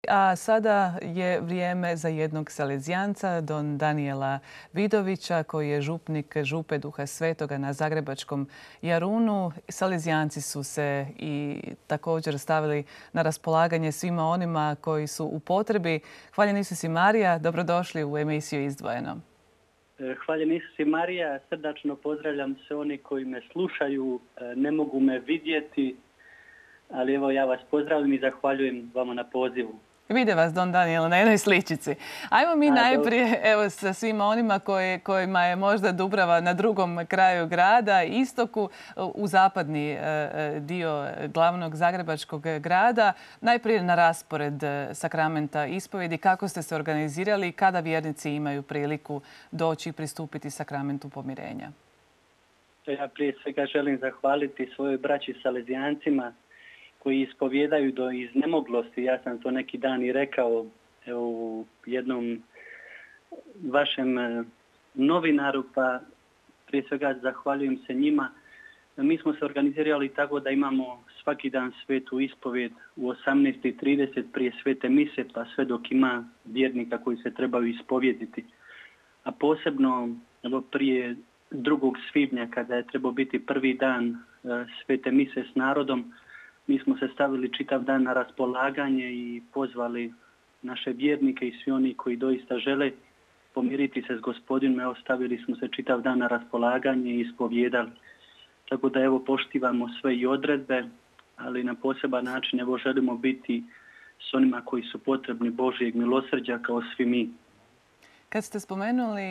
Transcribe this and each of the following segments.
A sada je vrijeme za jednog salezijanca, don Danijela Vidovića, koji je župnik Župe Duha Svetoga na Zagrebačkom Jarunu. Salezijanci su se i također stavili na raspolaganje svima onima koji su u potrebi. Hvaljen Isus i Marija, dobrodošli u emisiju Izdvojeno. Hvaljen Isus i Marija, srdačno pozdravljam sve oni koji me slušaju, ne mogu me vidjeti, ali evo ja vas pozdravljam i zahvaljujem vama na pozivu. Vide vas, don Danijel, na jednoj sličici. Ajmo mi najprije evo, sa svima onima kojima je možda Dubrava na drugom kraju grada, istoku, u zapadni dio glavnog zagrebačkog grada. Najprije na raspored sakramenta ispovjedi. Kako ste se organizirali i kada vjernici imaju priliku doći i pristupiti sakramentu pomirenja? Ja prije svega želim zahvaliti svojoj braći salezijancima koji ispovjedaju do iznemoglosti. Ja sam to neki dan i rekao u jednom vašem novinaru, pa prije svega zahvaljujem se njima. Mi smo se organizirali tako da imamo svaki dan svetu ispovjed u 18:30 prije svete mise, pa sve dok ima vjernika koji se trebaju ispovjediti. A posebno prije 2. svibnja, kada je trebao biti prvi dan svete mise s narodom, mi smo se stavili čitav dan na raspolaganje i pozvali naše vjernike i svi oni koji doista žele pomiriti se s Gospodinom. Evo, stavili smo se čitav dan na raspolaganje i ispovjedali. Tako da evo poštivamo sve i odredbe, ali na poseban način evo želimo biti s onima koji su potrebni Božjeg milosrđa kao svi mi. Kad ste spomenuli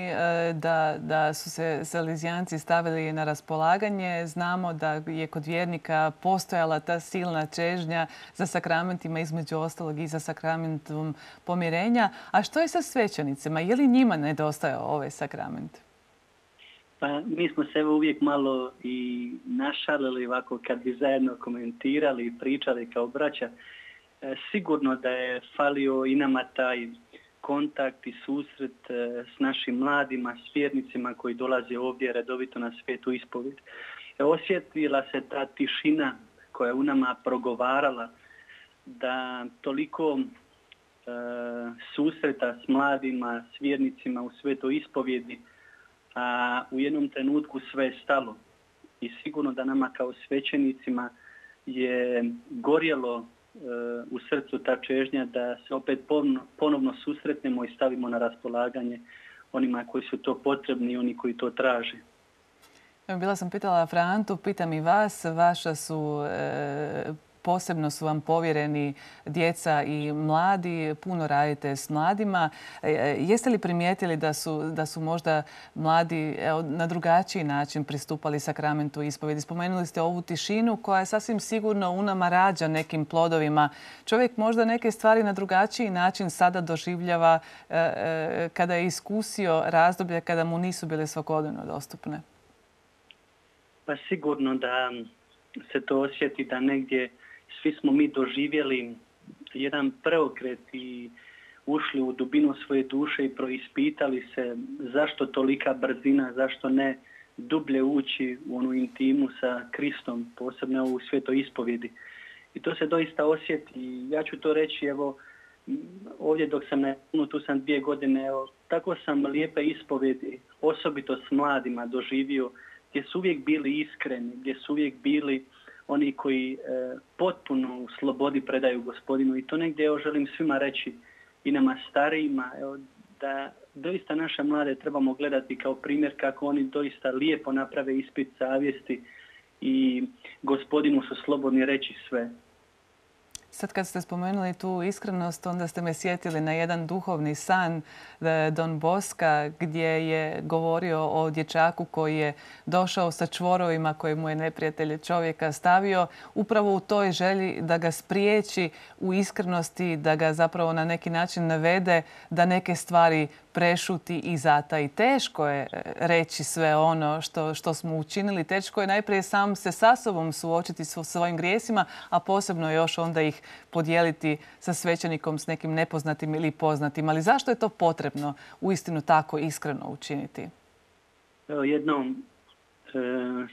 da su se salezijanci stavili na raspolaganje, znamo da je kod vjernika postojala ta silna čežnja za sakramentima, između ostalog i za sakramentom pomirenja. A što je sa svećenicima? Je li njima nedostajao ovaj sakrament? Pa mi smo se uvijek malo i našalili ovako kad bi zajedno komentirali i pričali kao braća. Sigurno da je falio i nama taj kontakt i susret s našim mladima, s vjernicima koji dolaze ovdje redovito na svetu ispovjed. Osjetila se ta tišina koja je u nama progovarala, da toliko susreta s mladima, s vjernicima u svetoj ispovjedi, a u jednom trenutku sve je stalo. I sigurno da nama kao svećenicima je gorjelo u srcu ta čežnja da se opet ponovno susretnemo i stavimo na raspolaganje onima koji su to potrebni i oni koji to traže. Bila sam pitala Frantu, pitam i vas, vaša su posebno su vam povjereni djeca i mladi, puno radite s mladima. Jeste li primijetili da su možda mladi na drugačiji način pristupali sakramentu ispovjedi? Spomenuli ste ovu tišinu koja je sasvim sigurno u nama rađa nekim plodovima. Čovjek možda neke stvari na drugačiji način sada doživljava kada je iskusio razdoblje kada mu nisu bile svakodnevno dostupne. Pa sigurno da se to osjeti da negdje svi smo mi doživjeli jedan preokret i ušli u dubinu svoje duše i proispitali se zašto tolika brzina, zašto ne dublje ući u onu intimu sa Kristom, posebno u svetoj ispovjedi. I to se doista osjeti. Ja ću to reći, evo, ovdje dok sam tu sam 2 godine, evo, tako sam lijepe ispovjedi, osobito s mladima doživio, gdje su uvijek bili iskreni, gdje su uvijek bili oni koji potpuno u slobodi predaju Gospodinu. I to negdje evo, želim svima reći i nama starijima, evo, da doista naše mlade trebamo gledati kao primjer kako oni doista lijepo naprave ispit savjesti i Gospodinu su slobodni reći sve. Sad kad ste spomenuli tu iskrenost, onda ste me sjetili na jedan duhovni san Don Boska gdje je govorio o dječaku koji je došao sa čvorovima koje mu je neprijatelj čovjeka stavio upravo u toj želji da ga spriječi u iskrenosti, da ga zapravo na neki način navede da neke stvari prešuti i zataji. Teško je reći sve ono što smo učinili. Teško je najprije sam se sa sobom suočiti s svojim grijesima, a posebno još onda ih podijeliti sa svećenikom, s nekim nepoznatim ili poznatim. Ali zašto je to potrebno uistinu tako iskreno učiniti? Evo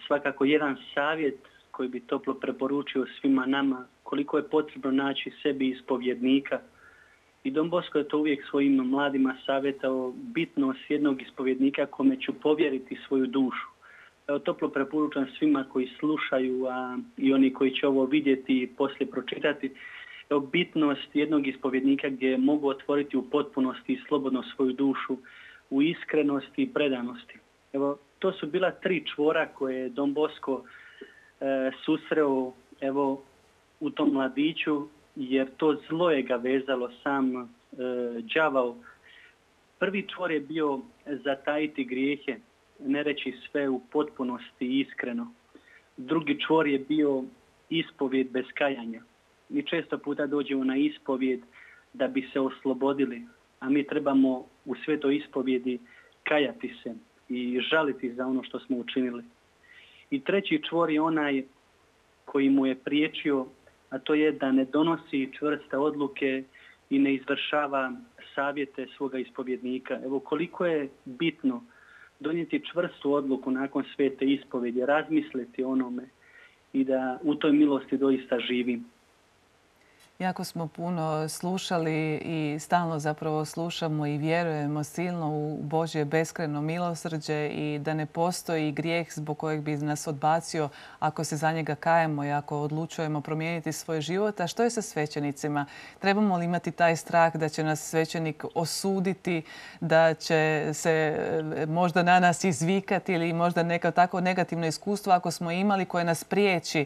svakako jedan savjet koji bi toplo preporučio svima nama, koliko je potrebno naći sebi ispovjednika I Don Bosco je to uvijek svojim mladima savjetao, bitnost jednog ispovjednika kome ću povjeriti svoju dušu. Evo, toplo preporučam svima koji slušaju, a i oni koji će ovo vidjeti i poslije pročitati, evo, bitnost jednog ispovjednika gdje mogu otvoriti u potpunosti i slobodno svoju dušu, u iskrenosti i predanosti. Evo, to su bila 3 čvora koje je Don Bosco susreo, evo, u tom mladiću, jer to zlo je ga vezalo, sam đavao. Prvi čvor je bio zatajiti grijehe, ne reći sve u potpunosti i iskreno. Drugi čvor je bio ispovjed bez kajanja. Mi često puta dođemo na ispovjed da bi se oslobodili, a mi trebamo u svetoj ispovjedi kajati se i žaliti za ono što smo učinili. I treći čvor je onaj koji mu je priječio, a to je da ne donosi čvrste odluke i ne izvršava savjete svoga ispovjednika. Evo, koliko je bitno donijeti čvrstu odluku nakon svete ispovjedi, razmisliti o onome i da u toj milosti doista živim. Jako smo puno slušali i stalno zapravo slušamo i vjerujemo silno u Božje beskrajno milosrđe i da ne postoji grijeh zbog kojeg bi nas odbacio ako se za njega kajemo i ako odlučujemo promijeniti svoj život. A što je sa svećenicima? Trebamo li imati taj strah da će nas svećenik osuditi, da će se možda na nas izvikati ili možda neko tako negativno iskustvo ako smo imali koje nas priječi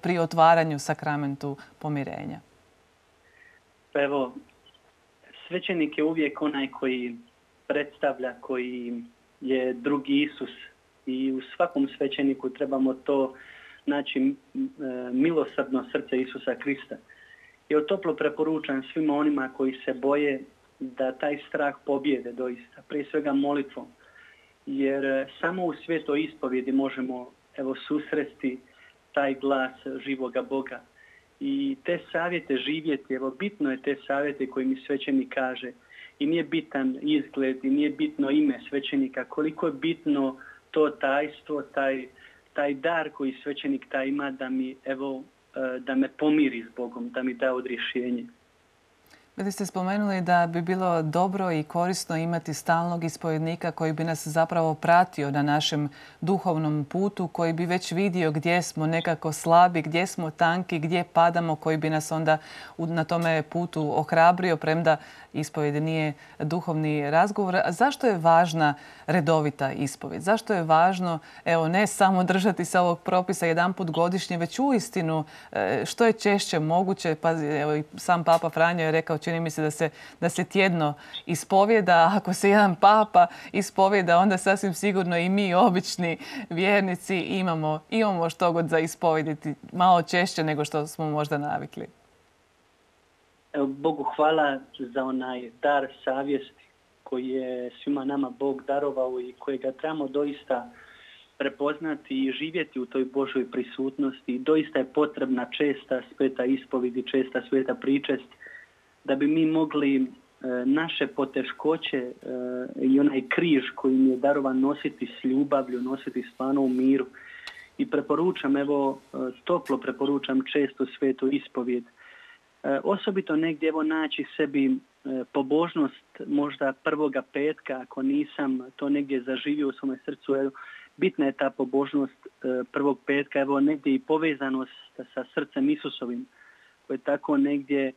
pri otvaranju sakramentu pomirenja? Pa evo, svećenik je uvijek onaj koji predstavlja, koji je drugi Isus. I u svakom svećeniku trebamo to naći milosrdno srce Isusa Krista. I toplo preporučam svima onima koji se boje da taj strah pobjede doista, prije svega molitvom. Jer samo u svetoj ispovjedi možemo susresti taj glas živoga Boga. I te savjete živjeti, evo, bitno je te savjete koje mi svećenik kaže. I nije bitan izgled i nije bitno ime svećenika. Koliko je bitno to tajstvo, taj dar koji svećenik taj ima da me pomiri s Bogom, da mi da odrješenje. Vi ste spomenuli da bi bilo dobro i korisno imati stalnog ispovjednika koji bi nas zapravo pratio na našem duhovnom putu, koji bi već vidio gdje smo nekako slabi, gdje smo tanki, gdje padamo, koji bi nas onda na tome putu ohrabrio, premda ispovjed nije duhovni razgovor. A zašto je važna redovita ispovjed? Zašto je važno, evo, ne samo držati se ovog propisa jedanput godišnje, već uistinu što je češće moguće? Pa evo, i sam Papa Franjo je rekao, čini mi se da se tjedno ispovjeda. Ako se jedan papa ispovjeda, onda sasvim sigurno i mi, obični vjernici, imamo što god za ispovjediti malo češće nego što smo možda navikli. Evo, Bogu hvala za onaj dar savjesti koji je svima nama Bog darovao i kojega trebamo doista prepoznati i živjeti u toj Božoj prisutnosti. Doista je potrebna česta sveta ispovjed i česta sveta pričest da bi mi mogli naše poteškoće i onaj križ koji mi je darovan nositi s ljubavlju, nositi stvarno u miru. I preporučam, evo, toplo preporučam često svetu ispovjed. Osobito negdje evo naći sebi pobožnost možda prvoga petka, ako nisam to negdje zaživio u svome srcu. Evo, bitna je ta pobožnost prvog petka, evo negdje i povezanost sa srcem Isusovim, koje je tako negdje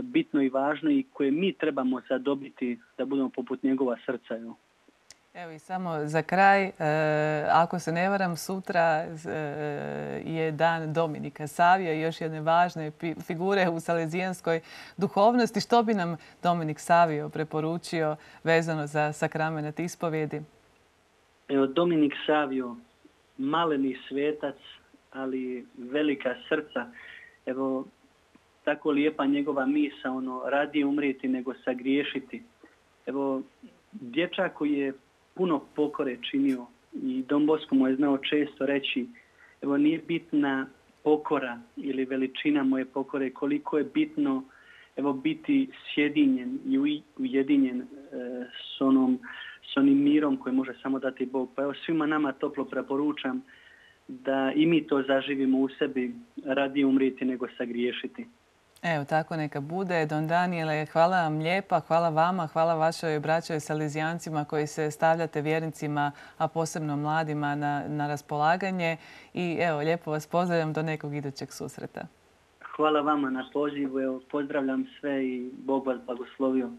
bitno i važno i koje mi trebamo zadobiti da budemo poput njegova srca. Evo i samo za kraj, ako se ne varam, sutra je dan Dominika Savija i još jedne važne figure u salezijanskoj duhovnosti. Što bi nam Dominik Savio preporučio vezano za sakrament ispovjedi? Evo, Dominik Savio, maleni svetac, ali velika srca. Evo, tako lijepa njegova misa, radije umrijeti nego sagriješiti. Evo, dječak koji je puno pokore činio i Don Bosco mu je znao često reći, evo, nije bitna pokora ili veličina moje pokore, koliko je bitno, evo, biti sjedinjen i ujedinjen s onim mirom koji može samo dati Bog. Pa evo, svima nama toplo preporučam da i mi to zaživimo u sebi, radije umrijeti nego sagriješiti. Evo, tako neka bude. Don Daniele, hvala vam lijepa, hvala vama, hvala vašoj braćoj Salezijancima koji se stavljate vjernicima, a posebno mladima na raspolaganje. I evo, lijepo vas pozdravljam do nekog idućeg susreta. Hvala vama na pozivu. Evo, pozdravljam sve i Bog vas blagoslovio.